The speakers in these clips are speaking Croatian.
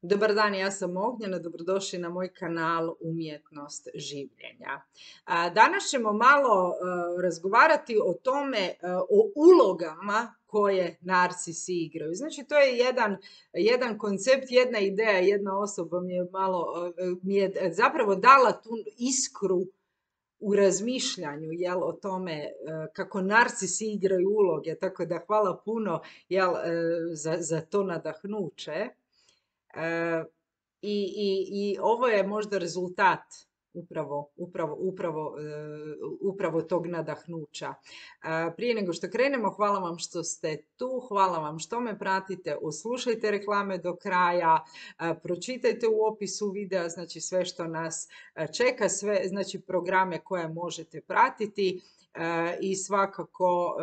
Dobar dan, ja sam Ognjena, dobrodošli na moj kanal Umjetnost življenja. Danas ćemo malo razgovarati o tome, o ulogama koje narcisi igraju. Znači, to je jedan koncept, jedna ideja, jedna osoba mi je zapravo dala tu iskru u razmišljanju, o tome kako narcisi igraju uloge, tako da hvala puno za to nadahnuće. E, i ovo je možda rezultat upravo tog nadahnuća. Prije nego što krenemo, hvala vam što ste tu, hvala vam što me pratite, oslušajte reklame do kraja, pročitajte u opisu videa, znači sve što nas čeka, sve znači programe koje možete pratiti i svakako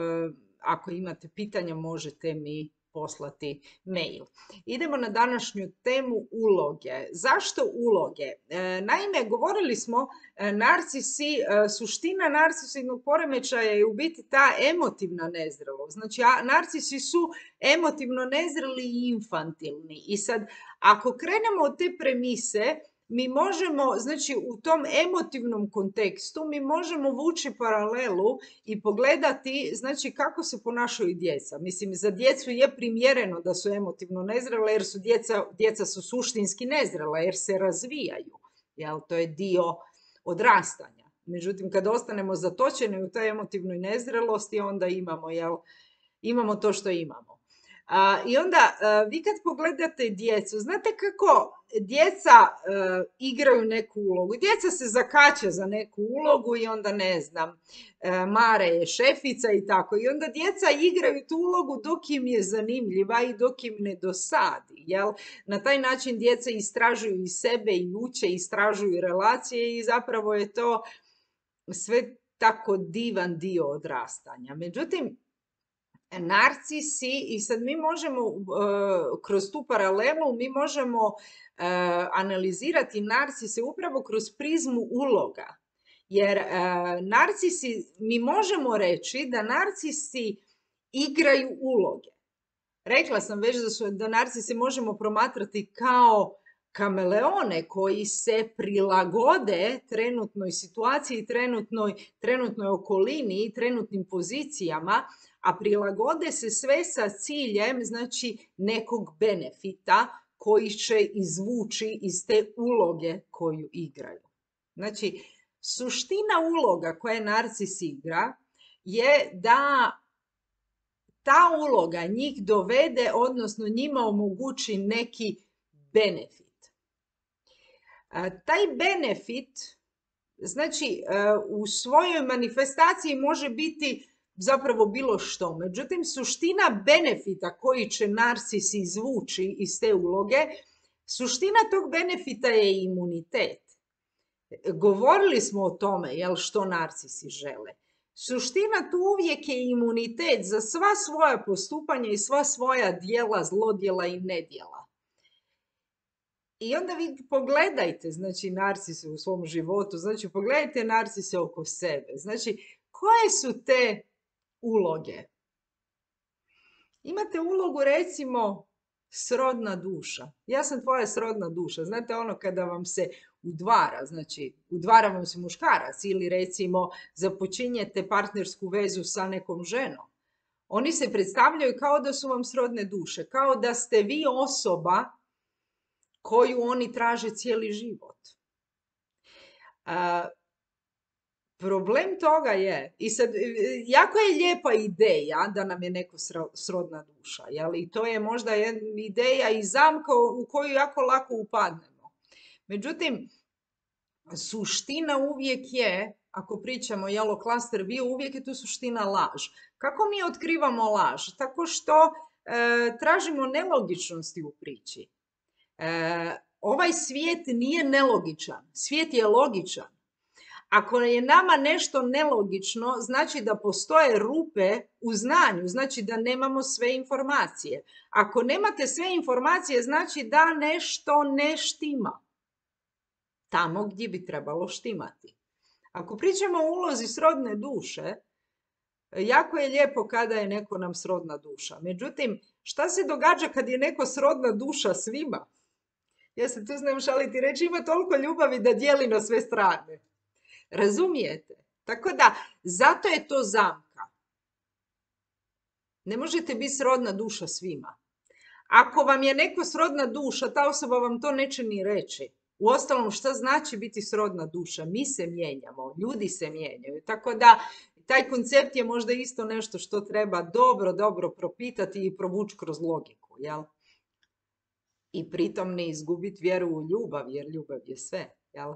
ako imate pitanja možete mi poslati mail. Idemo na današnju temu uloge. Zašto uloge? Naime, govorili smo narcisi, suština narcisivnog poremećaja je u biti ta emotivna nezrelost. Znači, narcisi su emotivno nezreli i infantilni. I sad, ako krenemo od te premise, mi možemo, znači u tom emotivnom kontekstu, mi možemo vući paralelu i pogledati, znači kako se ponašaju djeca. Mislim, za djecu je primjereno da su emotivno nezrela, jer su djeca su suštinski nezrela, jer se razvijaju. To je dio odrastanja. Međutim, kad ostanemo zatočeni u toj emotivnoj nezrelosti, onda imamo to što imamo. I onda vi kad pogledate djecu, znate kako djeca igraju neku ulogu. Djeca se zakače za neku ulogu i onda ne znam, Mare je šefica i tako. I onda djeca igraju tu ulogu dok im je zanimljiva i dok im ne dosadi. Na taj način djeca istražuju i sebe i uče, istražuju relacije i zapravo je to sve tako divan dio odrastanja. Međutim, narcisi, i sad mi možemo kroz tu paralelu, mi možemo analizirati narcise upravo kroz prizmu uloga. Jer narcisi, mi možemo reći da narcisi igraju uloge. Rekla sam već da narcise možemo promatrati kao kameleone koji se prilagode trenutnoj situaciji, trenutnoj okolini, trenutnim pozicijama, a prilagode se sve sa ciljem, znači, nekog benefita koji će izvući iz te uloge koju igraju. Znači, suština uloga koje narcis igra je da ta uloga njih dovede, odnosno njima omogući neki benefit. Taj benefit, znači, u svojoj manifestaciji može biti zapravo bilo što. Međutim, suština benefita koji će narcis izvući iz te uloge, suština tog benefita je imunitet. Govorili smo o tome, što narcisi žele. Suština tu uvijek je imunitet za sva svoja postupanja i sva svoja djela, zlodjela i nedjela. I onda vi pogledajte, znači, narcise u svom životu, znači, pogledajte narcise oko sebe. Znači, koje su te uloge? Imate ulogu, recimo, srodna duša. Ja sam tvoja srodna duša. Znate ono kada vam se udvara, znači udvara vam se muškarac ili recimo započinjete partnersku vezu sa nekom ženom. Oni se predstavljaju kao da su vam srodne duše, kao da ste vi osoba koju oni traže cijeli život. Problem toga je, i sad, jako je lijepa ideja da nam je neko srodna duša, i to je možda ideja i zamka u koju jako lako upadnemo. Međutim, suština uvijek je, ako pričamo o cluster view, uvijek je tu suština laž. Kako mi otkrivamo laž? Tako što tražimo nelogičnosti u priči. Ovaj svijet nije nelogičan, svijet je logičan. Ako je nama nešto nelogično, znači da postoje rupe u znanju, znači da nemamo sve informacije. Ako nemate sve informacije, znači da nešto ne štima tamo gdje bi trebalo štimati. Ako pričamo o ulozi srodne duše, jako je lijepo kada je neko nam srodna duša. Međutim, šta se događa kad je neko srodna duša svima? Ja se tu znam šaliti reći, ima toliko ljubavi da dijeli na sve strane. Razumijete? Tako da, zato je to zamka. Ne možete biti srodna duša svima. Ako vam je neko srodna duša, ta osoba vam to neće ni reći. Uostalom, šta znači biti srodna duša? Mi se mijenjamo, ljudi se mijenjaju. Tako da, taj koncept je možda isto nešto što treba dobro propitati i provući kroz logiku, jel? I pritom ne izgubiti vjeru u ljubav, jer ljubav je sve, jel?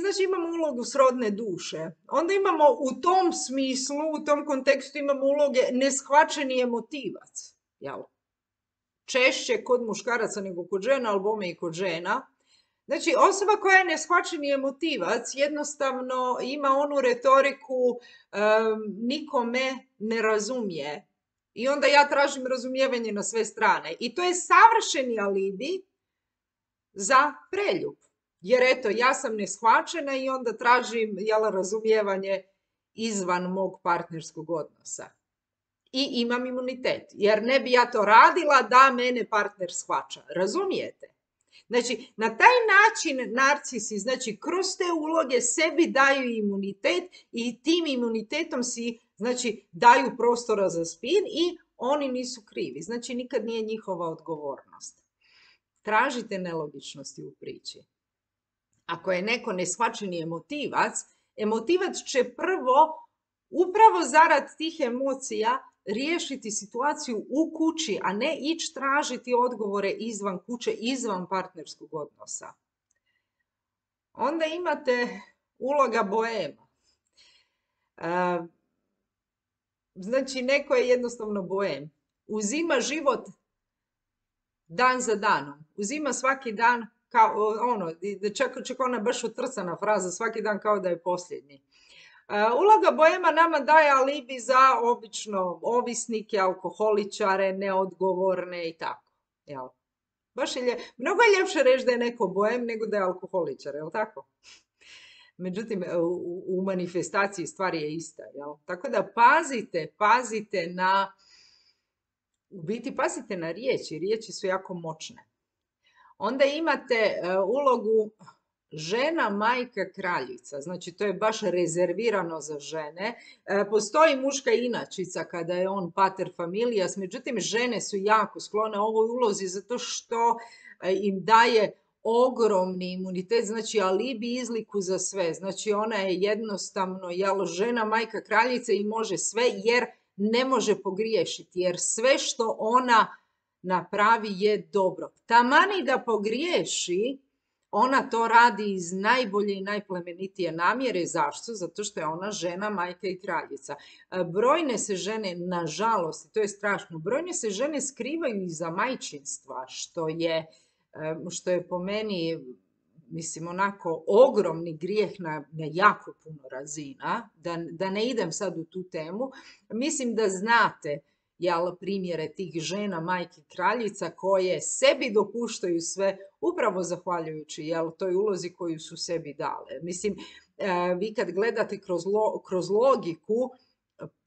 Znači imamo ulogu srodne duše. Onda imamo u tom smislu, u tom kontekstu imamo uloge neshvaćeni emotivac, jel? Češće kod muškaraca nego kod žena, ali bome i kod žena. Znači, osoba koja je neshvaćeni emotivac jednostavno ima onu retoriku niko me ne razumije. I onda ja tražim razumijevanje na sve strane. I to je savršeni alibi za preljub. Jer eto, ja sam neshvaćena i onda tražim razumijevanje izvan mog partnerskog odnosa. I imam imunitet. Jer ne bi ja to radila da mene partner shvaća. Razumijete? Znači, na taj način narcisi, znači, kroz te uloge sebi daju imunitet i tim imunitetom si, znači, daju prostora za spin i oni nisu krivi. Znači, nikad nije njihova odgovornost. Tražite nelogičnosti u priči. Ako je neko neshvaćeni emotivac će prvo, upravo zarad tih emocija, riješiti situaciju u kući, a ne ići tražiti odgovore izvan kuće, izvan partnerskog odnosa. Onda imate uloga boema. Znači, neko je jednostavno boem. Uzima život dan za danom. Uzima svaki dan kao ono, čak ona baš utrcana fraza, svaki dan kao da je posljednji. Uloga boema nama daje alibi za obično ovisnike, alkoholičare, neodgovorne i tako. Jel? Baš mnogo je ljepše reći da je neko boem nego da je alkoholičar, jel tako? Međutim, u manifestaciji stvari je ista. Jel? Tako da pazite na, u biti pazite na riječi. Riječi su jako moćne. Onda imate ulogu žena, majka, kraljica. Znači, to je baš rezervirano za žene. Postoji muška inačica kada je on pater familias, međutim, žene su jako sklone ovoj ulozi zato što im daje ogromni imunitet, znači alibi izliku za sve. Znači, ona je jednostavno žena, majka, kraljica i može sve jer ne može pogriješiti, jer sve što ona napravi je dobro. Tamani da pogriješi, ona to radi iz najbolje i najplemenitije namjere. Zašto? Zato što je ona žena, majka i kraljica. Brojne se žene, nažalost, i to je strašno, brojne se žene skrivaju iza majčinstva, što je po meni, mislim, onako ogromni grijeh na jako puno razina. Da ne idem sad u tu temu. Mislim da znate primjere tih žena, majki, kraljica koje sebi dopuštaju sve upravo zahvaljujući toj ulozi koju su sebi dale. Mislim, vi kad gledate kroz logiku,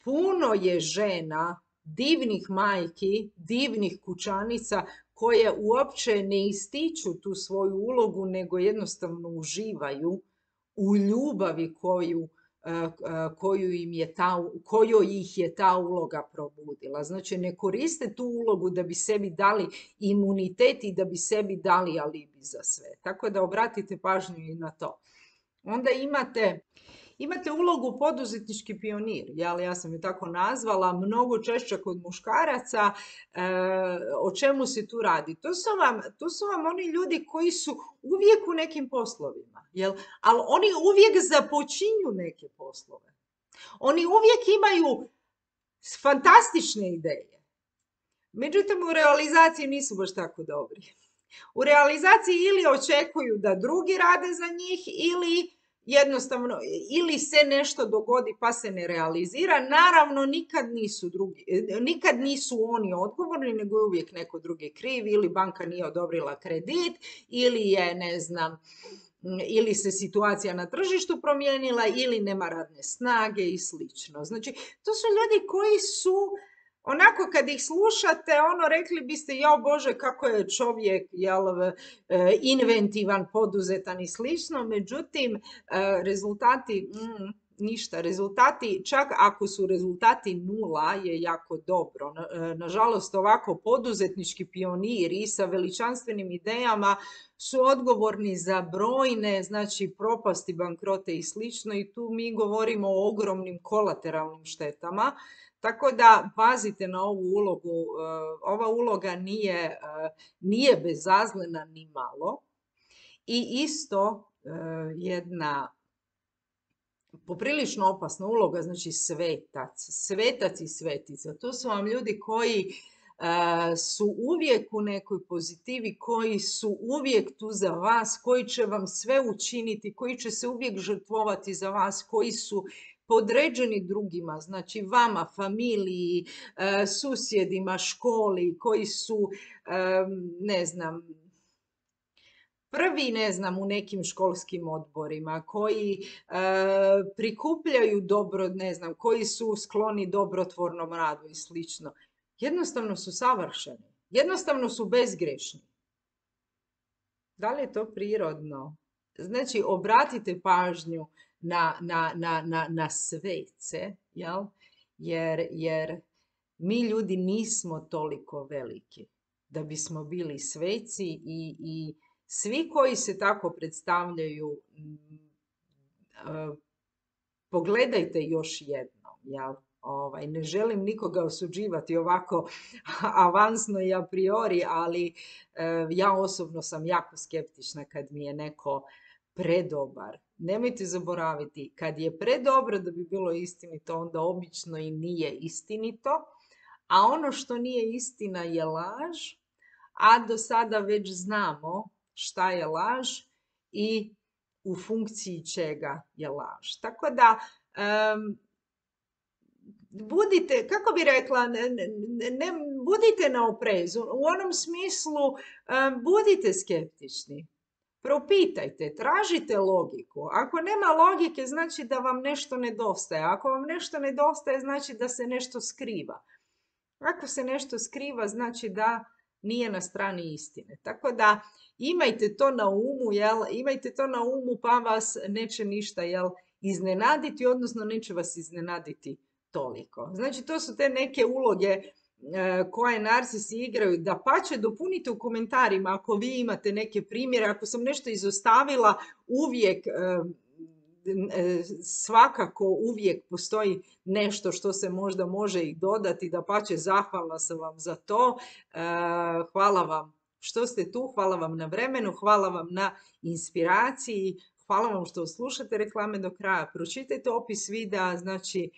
puno je žena, divnih majki, divnih kućanica koje uopće ne ističu tu svoju ulogu, nego jednostavno uživaju u ljubavi koju ih je ta uloga probudila. Znači, ne koriste tu ulogu da bi sebi dali imunitet i da bi sebi dali alibi za sve. Tako da obratite pažnju i na to. Onda imate ulogu poduzetnički pionir, ja sam je tako nazvala, mnogo češće kod muškaraca. O čemu se tu radi? To su vam oni ljudi koji su uvijek u nekim poslovima, ali oni uvijek započinju neke poslove. Oni uvijek imaju fantastične ideje. Međutim, u realizaciji nisu baš tako dobri. U realizaciji ili očekuju da drugi rade za njih jednostavno, ili se nešto dogodi pa se ne realizira. Naravno, nikad nisu oni odgovorni, nego je uvijek neko drugi kriv, ili banka nije odobrila kredit, ili je, ne znam, ili se situacija na tržištu promijenila, ili nema radne snage i slično. Znači, to su ljudi koji su onako kad ih slušate, rekli biste, jao Bože, kako je čovjek inventivan, poduzetan i slično, međutim, rezultati, ništa. Rezultati, čak ako su rezultati nula, je jako dobro. Nažalost, ovako poduzetnički pioniri sa veličanstvenim idejama su odgovorni za brojne, znači, propasti, bankrote i slično, i tu mi govorimo o ogromnim kolateralnim štetama. Tako da pazite na ovu ulogu. Ova uloga nije bezazlena ni malo. I isto jedna poprilično opasna uloga, znači svetac i svetica. To su vam ljudi koji su uvijek u nekoj pozitivi, koji su uvijek tu za vas, koji će vam sve učiniti, koji će se uvijek žrtvovati za vas, koji su podređeni drugima, znači vama, familiji, susjedima, školi, koji su, ne znam, prvi, ne znam, u nekim školskim odborima, koji prikupljaju dobro, ne znam, koji su skloni dobrotvornom radu i slično. Jednostavno su savršeni. Jednostavno su bezgrešni. Da li je to prirodno? Znači, obratite pažnju na svece, jel? Jer mi ljudi nismo toliko veliki da bismo bili sveci i svi koji se tako predstavljaju, pogledajte još jednom, jel? Ne želim nikoga osuđivati ovako avansno i a priori, ali ja osobno sam jako skeptična kad mi je neko predobar. Nemojte zaboraviti, kad je predobro da bi bilo istinito, onda obično i nije istinito, a ono što nije istina je laž, a do sada već znamo šta je laž i u funkciji čega je laž. Tako da, budite, kako bi rekla, budite na oprezu. U onom smislu, budite skeptični. Propitajte, tražite logiku. Ako nema logike, znači da vam nešto nedostaje. Ako vam nešto nedostaje, znači da se nešto skriva. Ako se nešto skriva, znači da nije na strani istine. Tako da imajte to na umu, imajte to na umu, pa vas neće ništa, iznenaditi, odnosno neće vas iznenaditi toliko. Znači, to su te neke uloge koje narcisi igraju. Dapače, dopunite u komentarima ako vi imate neke primjere. Ako sam nešto izostavila, uvijek, svakako uvijek postoji nešto što se možda može i dodati. Dapače, zahvalna sam vam za to. Hvala vam što ste tu, hvala vam na vremenu, hvala vam na inspiraciji, hvala vam što slušate reklame do kraja. Pročitajte opis videa, znači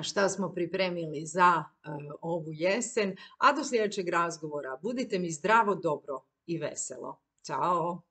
šta smo pripremili za ovu jesen, a do sljedećeg razgovora budite mi zdravo, dobro i veselo. Ćao!